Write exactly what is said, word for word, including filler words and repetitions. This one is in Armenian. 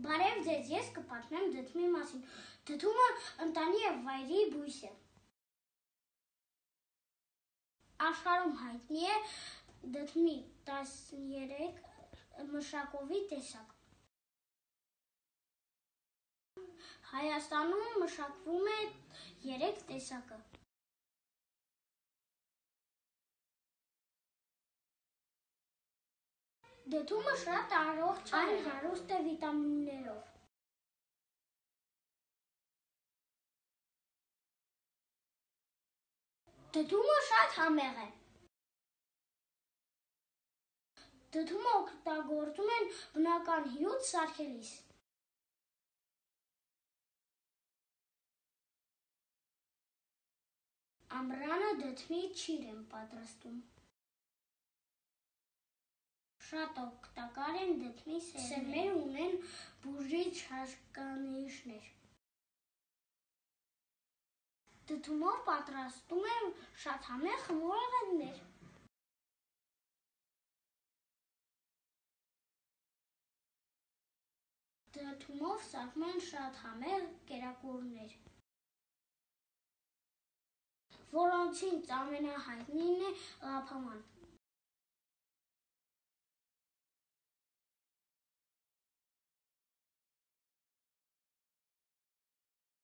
Բարև ձեզ, ես կպատմեմ դդմի մասին։ Դդումը ընտանի և վայրի բույս է։ Աշխարհում հայտնի է դդմի տասներեք մշակովի տեսակ։ Հայաստանում մշակվում է երեք տեսակը։ Դդումը շատ առողջ է, հարուստ է վիտամիններով։ Դդումը շատ համեղ է։ Դդումը օգտագործում են բնական հյութ սարքելիս։ Ամռանը դդմի ճիր են պատրաստում։ Շատ օգտակար են դդմի սերմերը, ունեն բուժիչ հատկանիշներ։ Դդումով պատրաստում են շատ համեղ խմորեղեններ։ Դդումով սարքում են շատ համեղ կերակուրներ, որոնցից ամենահայտնին է ղափաման։